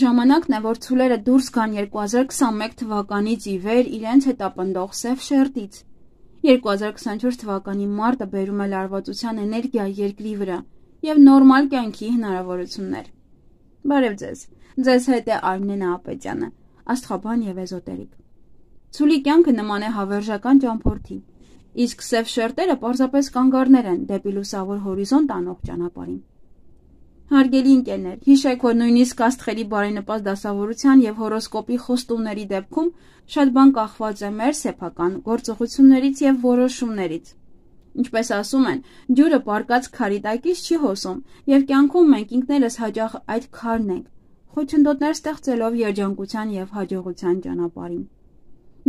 ժամանակն է, որ ցուլերը դուրս գան 2021 թվականից ի վեր իրենց հետապնդող սև շերտից։ 2024 թվականի մարտը բերում է լարվածության էներգիա երկրի վրա և նորմալ կյանքի հնարավորություններ։ Բարև ձեզ, ձեզ հետ է Արմինե Նահապետյանը, աստղաբան և էզոտերիկ։ Ցուլի կյանքը նման է հավերժական ճամփորդի, իսկ սև շերտերը պարզապես կանգառներ են դեպի լուսավոր հորիզոնտ անող ճանապարհին։ Հարգելի ընկերներ, հիշեք, որ նույնիսկ աստղերի բարենպաստ դասավորության և հորոսկոպի խոստումների դեպքում շատ բան կախված է մեր սեփական գործողություններից և որոշումներից։ Ինչպես ասում են, ջուրը պառկած քարի տակից չի հոսում, և կյանքում մենք ինքներս հաճախ այդ քարն ենք, խոչընդոտներ ստեղծելով երջանկության և հաջողության ճանապարհին։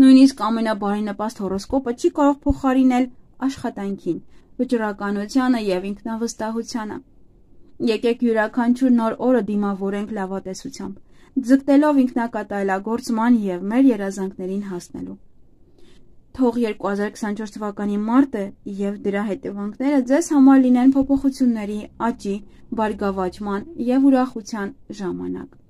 Նույնիսկ ամենաբարենպաստ հորոսկոպը չի կարող փոխարինել աշխատանքին, վճռականությանը և ինքնավստահությանը։ Եկեք յուրաքանչյուր նոր օրը դիմավորենք լավատեսությամբ, ձգտելով ինքնակատարելագործման և մեր երազանքներին հասնելու։ Թող 2024 թվականի մարտը և դրա հետևանքները ձեզ համար լինեն փոփոխությունների, աճի, բարգավաճման և ուրախության ժամանակ։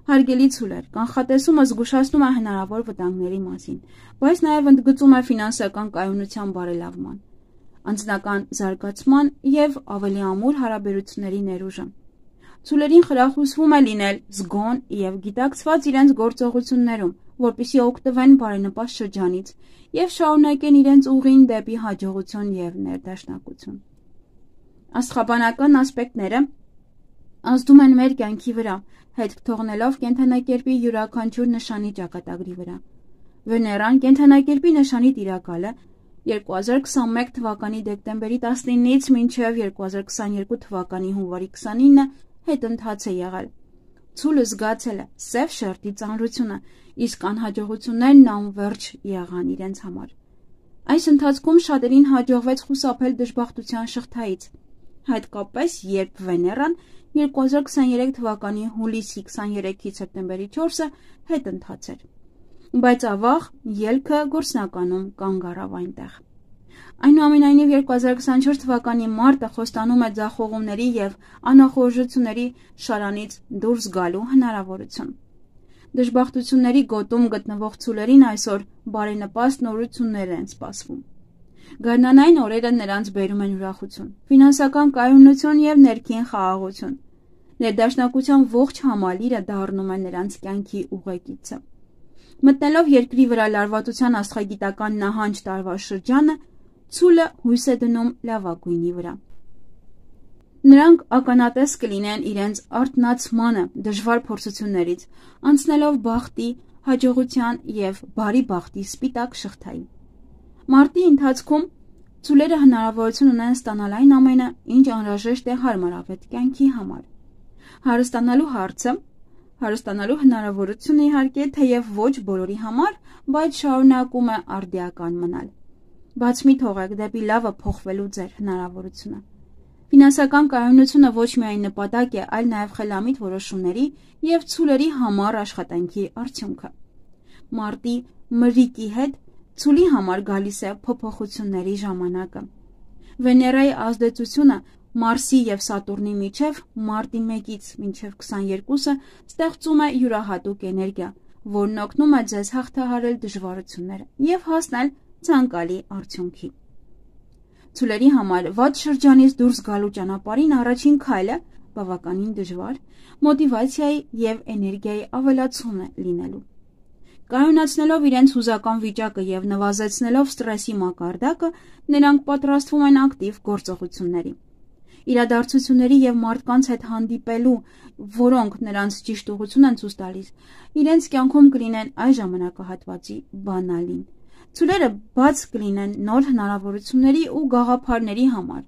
Հարգելի ցուլեր, կանխատեսումը զգուշացնում է հնարավոր վտանգների մասին, բայց նաև ընդգծում է ֆինանսական կայունության բարելավման, անձնական զարգացման և ավելի ամուր հարաբերությունների ներուժը։ Ցուլերին խրախուսվում է լինել զգոն և գիտակցված իրենց գործողություններում, որպեսզի օգտվեն բարենպաստ շրջանից և շարունակեն իրենց ուղին դեպի հաջողություն և ներդաշնակություն։ Աստղաբանական ասպեկտները ազդում են մեր կյանքի վրա, հետք թողնելով կենդանակերպի յուրաքանչյուր նշանի ճակատագրի վրա։ Վեներան կենդանակերպի նշանի տիրակալը 2021 թվականի դեկտեմբերի 19-ից մինչև 2022 թվականի հունվարի 29-ը հետընթաց է եղել։ Ցուլը զգացել է սև շերտի ծանրությունը, իսկ անհաջողություններն անվերջ եղան իրենց համար։ Այս ընթացքում շատերին հաջողվեց խուսափել դժբախտության շղթայից, հատկապես երբ Վեներան 2023 թվականի հուլիսի 23-ից սեպտեմբերի 4-ը հետընթաց էր։ Բայց ավաղ ելքը գործնականում կանգ առավ այնտեղ։ Այնուամենայնիվ 2024 թվականի մարտը խոստանում է ձախողումների և անախորժությունների շարանից դուրս գալու հնարավորություն։ Դժբախտությունների գոտում գտնվող ցուլերին այսօր բարենպաստ նորություններ են սպասվում։ Գարնանային օրերը նրանց բերում են ուրախություն, ֆինանսական կայունություն և ներքին խաղաղություն։ Ներդաշնակության ողջ համալիրը դառնում է նրանց կյանքի ուղեկիցը։ Մտնելով երկրի վրա լարվածության աստղագիտական նահանջ տարվա շրջանը, ցուլը հույս է դնում լավագույնի վրա։ Նրանք ականատես կլինեն իրենց արթնացմանը դժվար փորձություններից, անցնելով բախտի, հաջողության և բարի բախտի սպիտակ շղթայի։ Մարտի ընթացքում ցուլերը հնարավորություն ունեն ստանալ այն ամենը, ինչ անհրաժեշտ է հարմարավետ կյանքի համար։ Հարստանալու հնարավորությունը իհարկե թեև ոչ բոլորի համար, բայց շարունակում է արդիական մնալ։ Բաց մի թողեք դեպի լավը փոխվելու ձեր հնարավորությունը։ Ֆինանսական կայունությունը ոչ միայն նպատակ է, այլ նաև խելամիտ որոշումների և ցուլերի համառ աշխատանքի արդյունքը։ Մարտի մրրիկի հետ ցուլի համար գալիս է փոփոխությունների ժամանակը։ Վեներայի ազդեցությունը Մարսի և Սատուրնի միջև մարտի 1-ից մինչև 22-ը ստեղծում է յուրահատուկ էներգիա, որն օգնում է ձեզ հաղթահարել դժվարությունները և հասնել ցանկալի արդյունքի։ Ցուլերի համար վատ շրջանից դուրս գալու ճանապարհին առաջին քայլը բավականին դժվար, մոտիվացիայի և էներգիայի ավելացում է լինելու։ Կայունացնելով իրենց հուզական վիճակը և նվազեցնելով ստրեսի մակարդակը, նրանք պատրաստվում են ակտիվ գործողությունների։ Իրադարձությունների և մարդկանց հետ հանդիպելու, որոնք նրանց ճիշտ ուղղություն են ցույց տալիս, իրենց կյանքում կլինեն այս ժամանակահատվածի բանալին։ Ցուլերը բաց կլինեն նոր հնարավորությունների ու գաղափարների համար,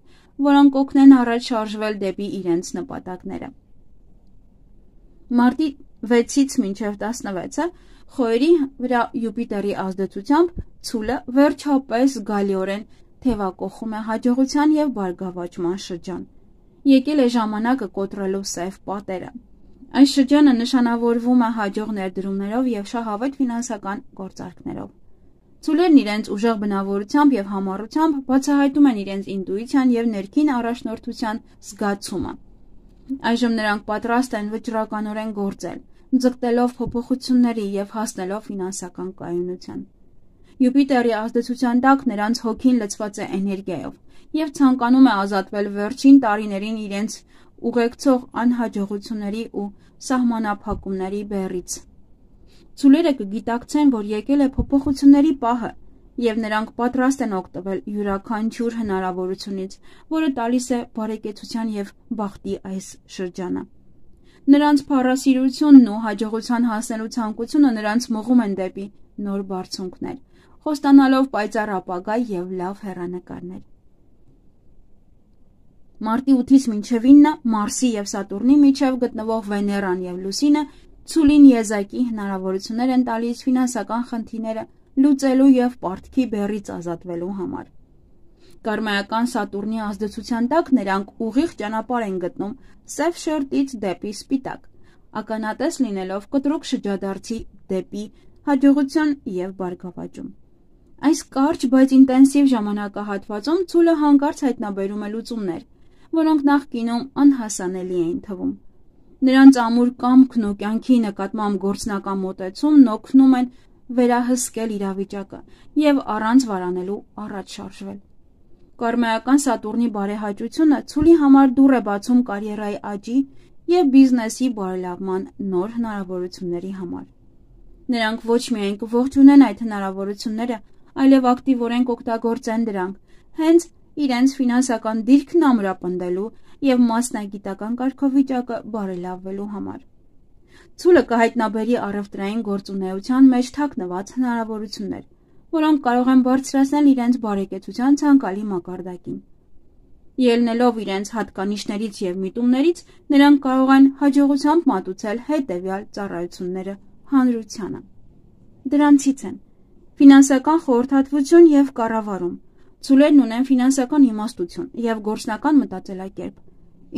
որոնք կօգնեն առաջ շարժվել դեպի իրենց նպատակները։ Մարտի 6-ից մինչև 16-ը խոյերի վրա Յուպիտերի ազդեցությամբ ցուլը վերջապես զգալիորեն թևակոխում է հաջողության և բարգավաճման շրջան։ Եկել է ժամանակը կոտրելու սև պատերը։ Այս շրջանը նշանավորվում է հաջող ներդրումներով և շահավետ ֆինանսական գործարքներով։ Ցուլերն իրենց ուժեղ բնավորությամբ և համառությամբ բացահայտում են իրենց ինտուիցիան և ներքին առաջնորդության զգացումը։ Այժմ նրանք պատրաստ են վճռականորեն գործել, ձգտելով փոփոխությունների եւ հասնելով ֆինանսական կայունության։ Յուպիտերի ազդեցության տակ նրանց հոգին լցված է էներգիայով եւ ցանկանում է ազատվել վերջին տարիներին իրենց ուղեկցող անհաջողությունների ու սահմանափակումների բեռից։ Ցուլերը կգիտակցեն, որ եկել է փոփոխությունների պահը եւ նրանք պատրաստ են օգտվել յուրաքանչյուր հնարավորությունից, որը տալիս է բարեկեցության եւ բախտի այս շրջանը։ Նրանց փառասիրությունն ու հաջողության հասնելու ցանկությունը նրանց մղում են դեպի նոր բարձունքներ, խոստանալով պայծառ ապագա եւ լավ հեռանկարներ։ Մարտի 8-ից մինչև 9 Մարսի եւ Սատուրնի միջև գտնվող Վեներան եւ Լուսինը ցուլին եզակի հնարավորություններ են տալիս ֆինանսական խնդիրները լուծելու եւ պարտքի բեռից ազատվելու համար։ Կարմայական Սատուրնի ազդեցության տակ նրանք ուղիղ ճանապարհ են գտնում սև շերտից դեպի սպիտակ, ականատես լինելով կտրուկ շրջադարձի դեպի հաջողություն եւ բարգավաճում։ Այս կարճ, բայց ինտենսիվ ժամանակահատվածում ցուլը հանկարծ հայտնաբերում է լուծումներ, որոնք նախկինում անհասանելի էին թվում։ Նրանց ամուր կամքն ու կյանքի նկատմամբ գործնական մոտեցումն օգնում են վերահսկել իրավիճակը եւ առանց վարանելու առաջ շարժվել։ Կարմայական Սատուրնի բարեհաճությունը ցուլի համար դուռ է բացում կարիերայի աճի եւ բիզնեսի բարելավման նոր հնարավորությունների համար։ Նրանք ոչ միայն կողջունեն այդ հնարավորությունները, այլև ակտիվորեն կօգտագործեն դրանք, հենց իրենց ֆինանսական դիրքն ամրապնդելու եւ մասնագիտական կարգավիճակը բարելավելու համար։ Ցուլը կհայտնաբերի առևտրային գործունեության մեջ թաքնված հնարավորություններ, որոնք կարող են բարձրացնել իրենց բարեկեցության ցանկալի մակարդակին։ Ելնելով իրենց հատկանիշներից եւ միտումներից, նրանք կարող են հաջողությամբ մատուցել հետեւյալ ծառայությունները հանրությանը։ Դրանցից են ֆինանսական խորհրդատվություն եւ կառավարում։ Ցուլերն ունեն ֆինանսական իմաստություն եւ գործնական մտածելակերպ,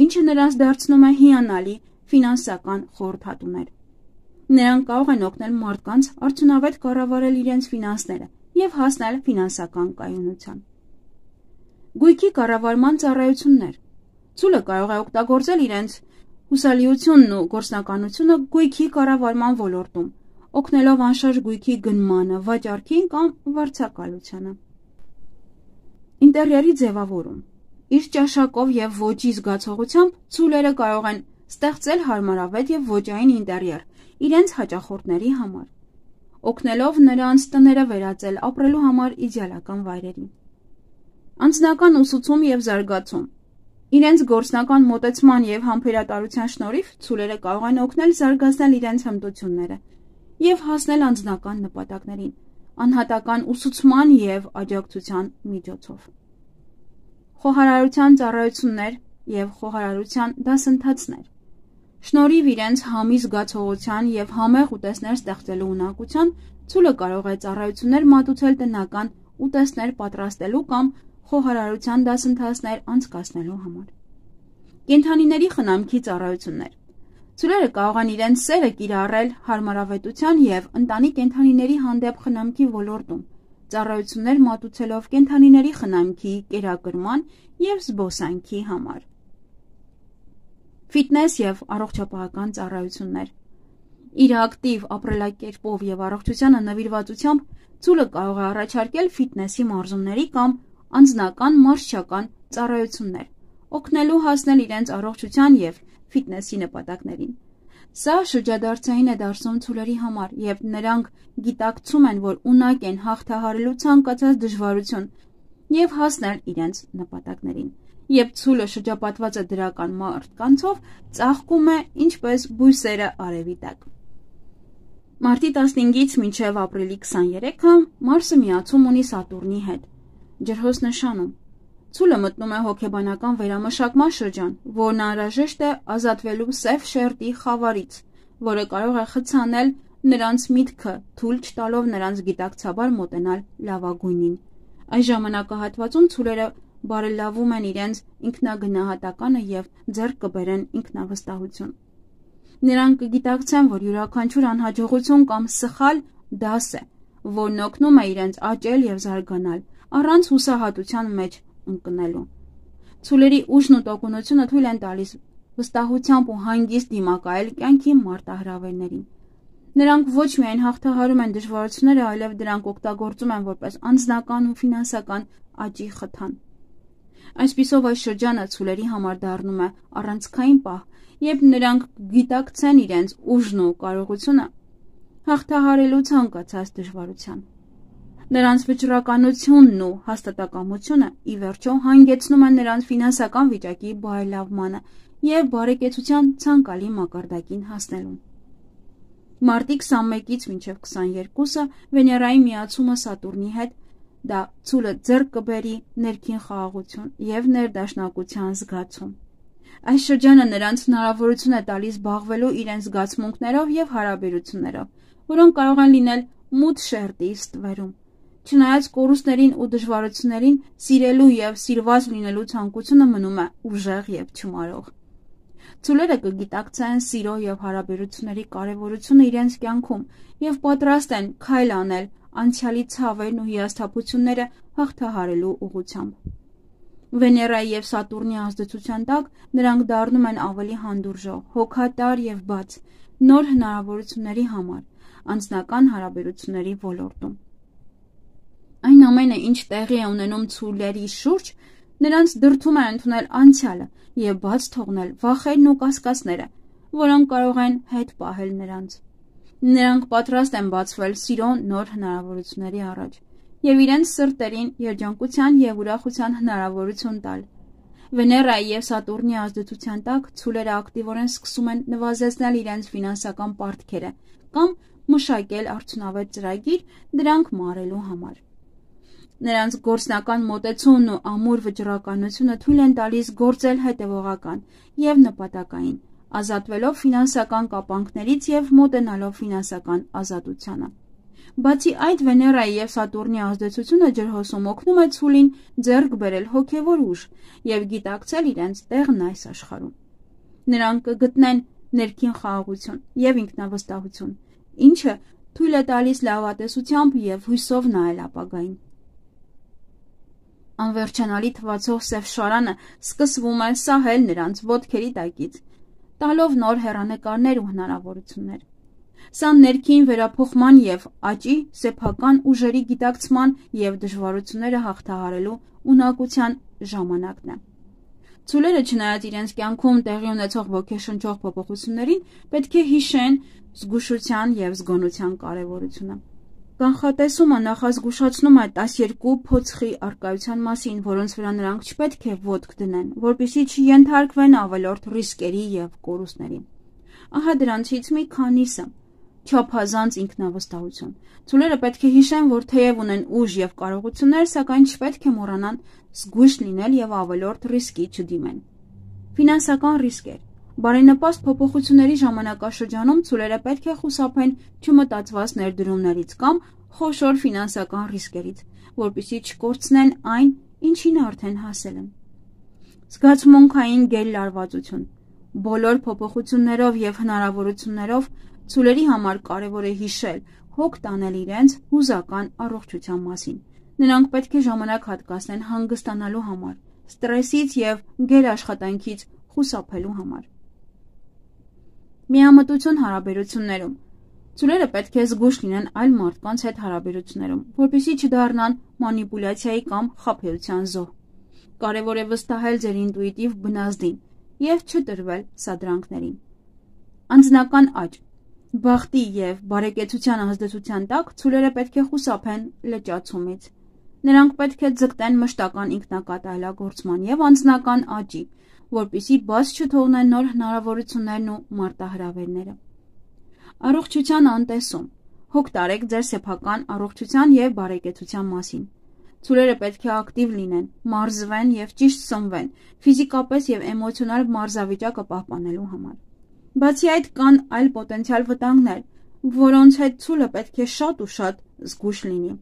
ինչը նրանց դարձնում է հիանալի ֆինանսական խորհրդատուներ։ Նրանք կարող են օգնել մարդկանց արդյունավետ կառավարել իրենց ֆինանսները եւ հասնել ֆինանսական կայունության։ Գույքի կառավարման ծառայություններ։ Ցուլը կարող է օգտագործել իրենց հուսալիությունն ու գործնականությունը գույքի կառավարման ոլորտում, օգնելով անշարժ գույքի գնմանը, վաճառքին կամ վարձակալությանը։ Ինտերիերի ձևավորում։ Իր ճաշակով եւ ոճի զգացողությամբ ցուլերը կարող են ստեղծել հարմարավետ եւ ոճային ինտերիեր իրենց հաճախորդների համար, օգնելով նրանց տները վերածել ապրելու համար իդեալական վայրերի։ Անձնական ուսուցում եւ զարգացում։ Իրենց գործնական մոտեցման եւ համբերատարության շնորհիվ ցուլերը կարող են օգնել զարգացնել իրենց հմտությունները եւ հասնել անձնական նպատակներին, անհատական ուսուցման եւ աջակցության միջոցով։ Խոհարարության ծառայություններ եւ խոհարարության դասընթացներ։ Շնորհիվ իրենց համի զգացողության եւ համեղ ուտեստներ ստեղծելու ունակության, ցուլը կարող է ծառայություններ մատուցել տնական ուտեստներ պատրաստելու կամ խոհարարության դասընթացներ անցկացնելու համար։ Կենդանիների խնամքի ծառայություններ։ Ցուլերը կարող են իրենց սերը կիրառել հարմարավետության եւ ընտանի կենդանիների հանդեպ խնամքի ոլորտում, ծառայություններ մատուցելով կենդանիների խնամքի, կերակրման եւ զբոսանքի համար։ Ֆիթնես եւ առողջապահական ծառայություններ։ Իր ակտիվ ապրելակերպով եւ առողջությանը նվիրվածությամբ ցուլը կարող է առաջարկել ֆիթնեսի մարզումների կամ անձնական մարզչական ծառայություններ, օգնելու հասնել իրենց առողջության եւ ֆիթնեսի նպատակներին։ Սա շրջադարձային է դարձնում ցուլերի համար, եւ նրանք գիտակցում են, որ ունակ են հաղթահարելու ցանկացած դժվարություն եւ հասնել իրենց նպատակներին։ Երբ ցուլը շրջապատված է դրական մարդկանցով, ծաղկում է ինչպես բույսերը արևի տակ։ Մարտի 15-ից մինչև ապրիլի 23-ը Մարսը միացում ունի Սատուրնի հետ։ Ջրհոս նշանում։ Ցուլը մտնում է հոգեբանական վերամշակման շրջան, որն անհրաժեշտ է ազատվելու սև շերտի խավարից, որը կարող է խցանել նրանց միտքը, թույլ չտալով նրանց գիտակցաբար մոտենալ լավագույնին։ Այս ժամանակահատվածում ցուլերը բարելավում են իրենց ինքնագնահատականը եւ ձեռք կբերեն ինքնավստահություն։ Նրանք կգիտակցեն, որ յուրաքանչյուր անհաջողություն կամ սխալ դաս է, որն օգնում է իրենց աճել եւ զարգանալ, առանց հուսահատության մեջ ընկնելու։ Ցուլերի ուժն ու տոկունությունը թույլ են տալիս վստահությամբ ու հանգիստ դիմակայել կյանքի մարտահրավերներին։ Նրանք ոչ միայն հաղթահարում են դժվարությունները, այլև դրանք օգտագործում են որպես անձնական ու ֆինանսական աճի խթան։ Այսպիսով այս շրջանը ցուլերի համար դառնում է առանցքային պահ, երբ նրանք գիտակցեն իրենց ուժն ու կարողությունը հաղթահարելու ցանկացած դժվարության։ Նրանց վճռականությունն ու հաստատակամությունը ի վերջո հանգեցնում են նրանց ֆինանսական վիճակի բարելավմանը և բարեկեցության ցանկալի մակարդակին հասնելուն։ Մարտի 21-ից մինչև 22-ը Վեներայի միացումը Սատուրնի հետ դա ցուլը ձեռք կբերի ներքին խաղաղություն և ներդաշնակության զգացում։ Այս շրջանը նրանց հնարավորություն է տալիս զբաղվելու իրենց զգացմունքներով և հարաբերություններով, որոնք կարող են լինել մութ շերտի ստվերում։ Չնայած կորուստներին ու դժվարություններին, սիրելու և սիրված լինելու ցանկությունը մնում է ուժեղ և չմարող։ Ցուլերը կգիտակցեն սիրո և հարաբերությունների կարևորությունը իրենց կյանքում և պատրաստ են քայլ անել անցյալի ցավերն ու հիասթափությունները հաղթահարելու ուղղությամբ։ Վեներայի և Սատուրնի ազդեցության տակ նրանք դառնում են ավելի հանդուրժող, հոգատար և բաց նոր հնարավորությունների համար անձնական հարաբերությունների ոլորտում։ Այն ամենը, ինչ տեղի է ունենում ցուլերի շուրջ, նրանց դրդում է ընդունել անցյալը և բաց թողնել վախերն ու կասկածները, որոնք կարող են հետ պահել նրանց։ Նրանք պատրաստ են բացվել սիրո նոր հնարավորությունների առաջ և իրենց սրտերին երջանկության և ուրախության հնարավորություն տալ։ Վեներայի և Սատուրնի ազդեցության տակ ցուլերը ակտիվորեն սկսում են նվազեցնել իրենց ֆինանսական պարտքերը կամ մշակել արդյունավետ ծրագիր դրանք մարելու համար։ Նրանց գործնական մոտեցումն ու ամուր վճռականությունը թույլ են տալիս գործել հետևողական և նպատակային, ազատվելով ֆինանսական կապանքներից և մոտենալով ֆինանսական ազատությանը։ Բացի այդ, Վեներայի և Սատուրնի ազդեցությունը ջրհոսում օգնում է ցուլին ձեռք բերել հոգևոր ուժ և գիտակցել իրենց տեղն այս աշխարհում։ Նրանք կգտնեն ներքին խաղաղություն և ինքնավստահություն, ինչը թույլ է տալիս լավատեսությամբ և հույսով նայել ապագային։ Անվերջանալի թվացող սև շարանը սկսվում է սահել նրանց ոտքերի տակից, տալով նոր հեռանկարներ ու հնարավորություններ։ Սա ներքին վերափոխման և աճի, սեփական ուժերի գիտակցման և դժվարությունները հաղթահարելու ունակության ժամանակն է։ Ցուլերը, չնայած իրենց կյանքում տեղի ունեցող ոգեշնչող փոփոխություններին, պետք է հիշեն զգուշության և զգոնության կարևորությունը։ Կանխատեսումը նախազգուշացնում է 12 փոცხի առկայության մասին, որոնց վրա նրանք չպետք է ոտք դնեն, որպեսզի չենթարկվեն ավելորդ ռիսկերի և կորուստների։ Ահա դրանցից մի քանիսը. չափազանց ինքնավստահություն։ Ցուլերը պետք է հիշեն, որ թեև ունեն ուժ և կարողություններ, սակայն չպետք է մոռանան զգույշ լինել և ավելորդ ռիսկի չդիմեն։ Ֆինանսական ռիսկեր։ Բարենպաստ փոփոխությունների ժամանակաշրջանում ցուլերը պետք է խուսափեն չմտածված ներդրումներից կամ խոշոր ֆինանսական ռիսկերից, որպեսզի չկորցնեն այն, ինչին արդեն հասել են։ Զգացմունքային գերլարվածություն։ Բոլոր փոփոխություններով և հնարավորություններով ցուլերի համար կարևոր է հիշել, հոգ տանել իրենց հուզական առողջության մասին։ Նրանք պետք է ժամանակ հատկացնեն հանգստանալու համար, ստրեսից և գերաշխատանքից խուսափելու համար։ Միամտություն հարաբերություններում։ Ցուլերը պետք է զգույշ լինեն այլ մարդկանց հետ հարաբերություններում, որպեսզի չդառնան մանիպուլյացիայի կամ խաբեության զոհ։ Կարևոր է վստահել ձեր ինտուիտիվ բնազդին և չտրվել սադրանքներին։ Անձնական աճ։ Բախտի և բարեկեցության ազդեցության տակ ցուլերը պետք է խուսափեն լճացումից։ Նրանք պետք է ձգտեն մշտական ինքնակատալագործման և անձնական աճի, որպեսզի բաց չթողնեն նոր հնարավորություններն ու մարտահրավերները։ Առողջության անտեսում։ Հոգ տարեք ձեր սեփական առողջության և բարեկեցության մասին։ Ցուլերը պետք է ակտիվ լինեն, մարզվեն և ճիշտ սնվեն, ֆիզիկապես և էմոցիոնալ մարզավիճակը պահպանելու համար։ Բացի այդ, կան այլ պոտենցիալ վտանգներ, որոնց հետ ցուլը պետք է շատ ու շատ զգույշ լինի։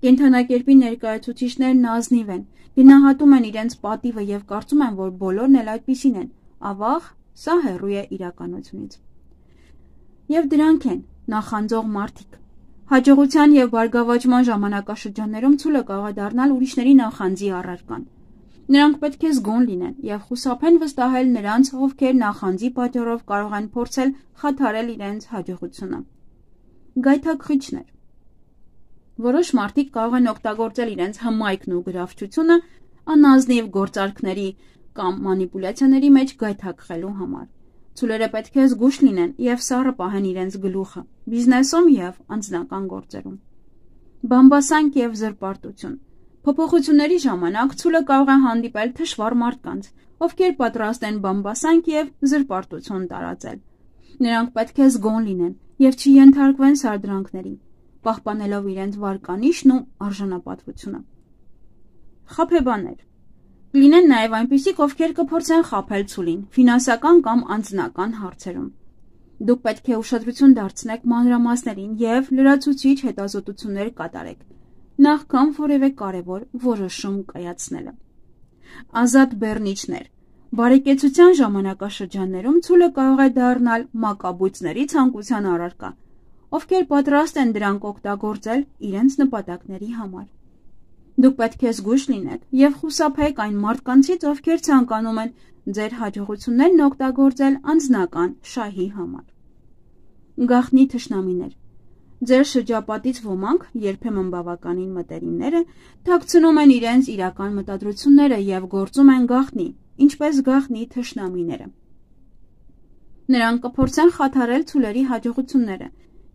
Կենդանակերպի ներկայացուցիչներն ազնիվ են, գնահատում են իրենց պատիվը և կարծում են, որ բոլորն էլ այդպիսին են։ Ավաղ, սա հեռու է իրականությունից։ Եվ դրանք են նախանձող մարդիկ։ Հաջողության և բարգավաճման ժամանակաշրջաններում ցուլը կարող է դառնալ ուրիշների նախանձի առարկան։ Նրանք պետք է զգոն լինեն և խուսափեն վստահել նրանց, ովքեր նախանձի պատճառով կարող են փորձել խաթարել իրենց հաջողությունը։ Գայթակղիչներ։ Որոշ մարդիկ կարող են օգտագործել իրենց հմայքն ու գրավչությունը անազնիվ գործարքների կամ մանիպուլյացիաների մեջ գայթակղելու համար։ Ցուլերը պետք է զգույշ լինեն և սառը պահեն իրենց գլուխը բիզնեսում և անձնական գործերում։ Բամբասանք և զրպարտություն։ Փոփոխությունների ժամանակ ցուլը կարող է հանդիպել թշվառ մարդկանց, ովքեր պատրաստ են բամբասանք և զրպարտություն տարածել։ Նրանք պետք է զգոն լինեն և չենթարկվեն սարդրանքների, պահպանելով իրենց վարկանիշն ու արժանապատվությունը։ Խաբեբաներ։ Կլինեն նաև այնպիսիք, ովքեր կփորձեն խաբել ցուլին ֆինանսական կամ անձնական հարցերում։ Դուք պետք է ուշադրություն դարձնեք մանրամասներին և լրացուցիչ հետազոտություններ կատարեք, նախքան որևէ կարևոր որոշում կայացնելը։ Ազատ բեռնիչներ։ Բարեկեցության ժամանակաշրջաններում ցուլը կարող է դառնալ մակաբույծների ցանկության առարկա, ովքեր պատրաստ են դրանք օգտագործել իրենց նպատակների համար։ Դուք պետք է զգույշ լինեք և խուսափեք այն մարդկանցից, ովքեր ցանկանում են ձեր հաջողություններն օգտագործել անձնական շահի համար։ Գաղտնի թշնամիներ։ Ձեր շրջապատից ոմանք, երբեմն բավականին մտերիմները, թաքցնում են իրենց իրական մտադրությունները և գործում են գաղտնի, ինչպես գաղտնի թշնամիները։ Նրանք կփորձեն խաթարել ցուլերի հաջողությունները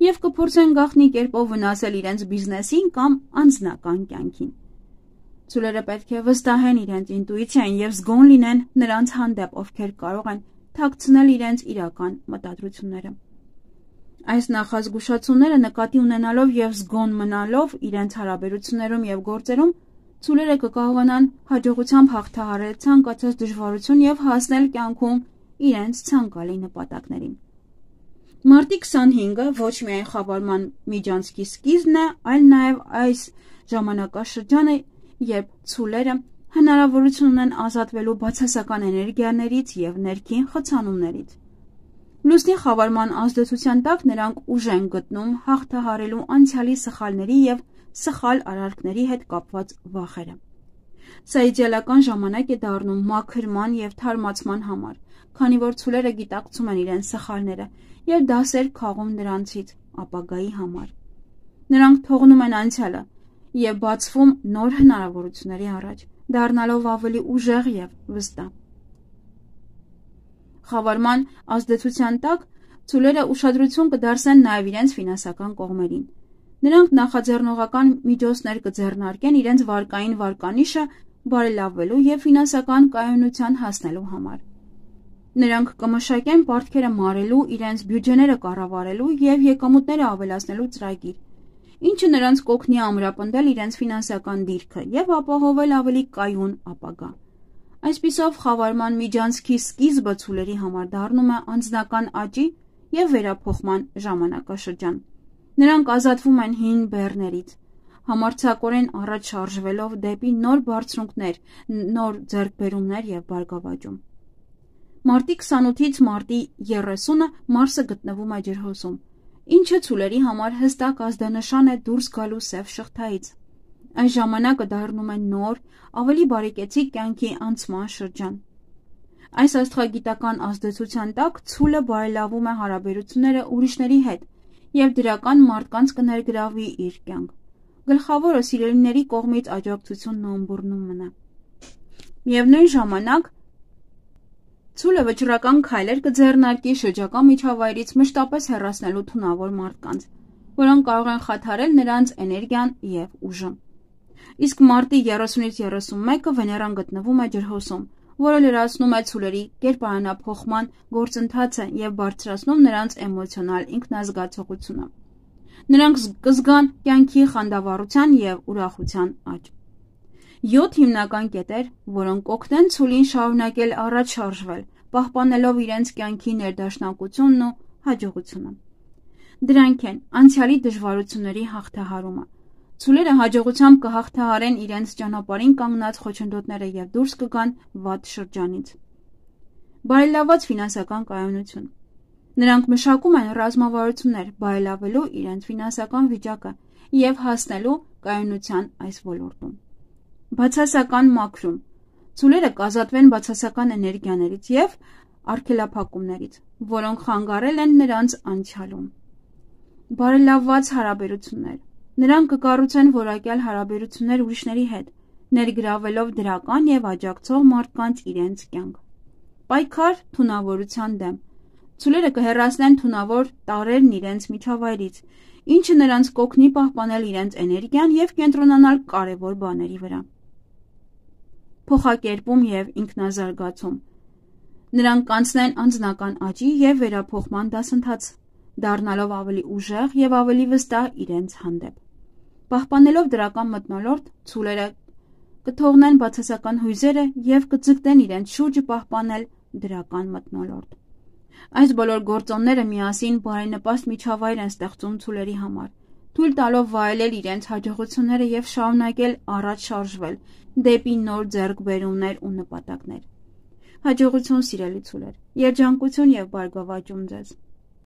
և կփորձեն գաղտնի կերպով վնասել իրենց բիզնեսին կամ անձնական կյանքին։ Ցուլերը պետք է վստահեն իրենց ինտուիցիային և զգոն լինեն նրանց հանդեպ, ովքեր կարող են թաքցնել իրենց իրական մտադրությունները։ Այս նախազգուշացումները նկատի ունենալով և զգոն մնալով իրենց հարաբերություններում և գործերում, ցուլերը կկարողանան հաջողությամբ հաղթահարել ցանկացած դժվարություն և հասնել կյանքում իրենց ցանկալի նպատակներին։ Մարտի 25-ը ոչ միայն խավարման միջանցքի սկիզբն է, այլ նաև այս ժամանակաշրջանը, երբ ցուլերը հնարավորություն ունեն ազատվելու բացասական էներգիաներից և ներքին խցանումներից։ Լուսնի խավարման ազդեցության տակ նրանք ուժ են գտնում հաղթահարելու անցյալի սխալների և սխալ արարքների հետ կապված վախերը։ Սա իդեալական ժամանակ է դառնում մաքրման և թարմացման համար, քանի որ ցուլերը գիտակցում են իրենց սխալները և դասեր քաղում նրանցից ապագայի համար։ Նրանք թողնում են անցյալը և բացվում նոր հնարավորությունների առաջ, դառնալով ավելի ուժեղ և վստահ։ Խավարման ազդեցության տակ ցուլերը ուշադրություն կդարձնեն նաև իրենց ֆինանսական կողմերին։ Նրանք նախաձեռնողական միջոցներ կձեռնարկեն իրենց վարկային վարկանիշը բարելավելու և ֆինանսական կայունության հասնելու համար։ Նրանք կմշակեն պարտքերը մարելու, իրենց բյուջեները կառավարելու և եկամուտները ավելացնելու ծրագիր, ինչը նրանց կօգնի ամրապնդել իրենց ֆինանսական դիրքը և ապահովել ավելի կայուն ապագա։ Այսպիսով, խավարման միջանցքի սկիզբը ցուլերի համար դառնում է անձնական աճի և վերափոխման ժամանակաշրջան։ Նրանք ազատվում են հին բեռներից, համարձակորեն առաջ շարժվելով դեպի նոր բարձունքներ, նոր ձեռքբերումներ և բարգավաճում։ Մարտի 28-ից մարտի 30-ը Մարսը գտնվում է ջրհոսում, ինչը ցուլերի համար հստակ ազդանշան է դուրս գալու սև շղթայից։ Այս ժամանակը դառնում է նոր, ավելի բարեկեցիկ կյանքի անցման շրջան։ Այս աստղագիտական ազդեցության տակ ցուլը բարելավում է հարաբերությունները ուրիշների հետ և դրական մարդկանց կներգրավի իր կյանք։ Գլխավորը սիրելիների կողմից աջակցությունն ու ըմբոռնումն է։ Միևնույն ժամանակ ցուլը վճռական քայլեր կձեռնարկի շրջակա միջավայրից մշտապես հեռացնելու թունավոր մարդկանց, որոնք կարող են խաթարել նրանց էներգիան և ուժը։ Իսկ մարտի 30-ից 31-ը Վեներան գտնվում է ջրհոսում, որը լրացնում է ցուլերի կերպարանափոխման գործընթացը և բարձրացնում նրանց էմոցիոնալ ինքնազգացողությունը։ Նրանք կզգան կյանքի խանդավառության և ուրախության աճ։ 7 հիմնական կետեր, որոնք կօգնեն ցուլին շարունակել առաջ շարժվել, պահպանելով իրենց կյանքի ներդաշնակությունն ու հաջողությունը։ Դրանք են անցյալի դժվարությունների հաղթահարումը։ Ցուլերը հաջողությամբ կհաղթահարեն իրենց ճանապարհին կանգնած խոչընդոտները և դուրս կգան վատ շրջանից։ Բարելաված ֆինանսական կայունություն։ Նրանք մշակում են ռազմավարություններ բարելավելու իրենց ֆինանսական վիճակը և հասնելու կայունության այս ոլորտում։ Բացասական մաքրում։ Ցուլերը կազատվեն բացասական էներգիաներից և արգելափակումներից, որոնք խանգարել են նրանց անցյալում։ Բարելավված հարաբերություններ։ Նրանք կկառուցեն որակյալ հարաբերություններ ուրիշների հետ, ներգրավելով դրական և աջակցող մարդկանց իրենց կյանք։ Պայքար թունավորության դեմ։ Ցուլերը կհեռացնեն թունավոր տարրերն իրենց միջավայրից, ինչը նրանց կօգնի պահպանել իրենց էներգիան և կենտրոնանալ կարևոր բաների վրա։ Փոխակերպում և ինքնազարգացում։ Նրանք կանցնեն անձնական աճի և վերափոխման դասընթաց, դառնալով ավելի ուժեղ և ավելի վստահ իրենց հանդեպ։ Պահպանելով դրական մթնոլորտ, ցուլերը կթողնեն բացասական հույզերը և կձգտեն իրենց շուրջը պահպանել դրական մթնոլորտ։ Այս բոլոր գործոնները միասին բարենպաստ միջավայր են ստեղծում ցուլերի համար, թույլ տալով վայելել իրենց հաջողությունները և շարունակել առաջ շարժվել դեպի նոր ձեռքբերումներ ու նպատակներ։ Հաջողություն, սիրելի ցուլեր, երջանկություն և բարգավաճում ձեզ։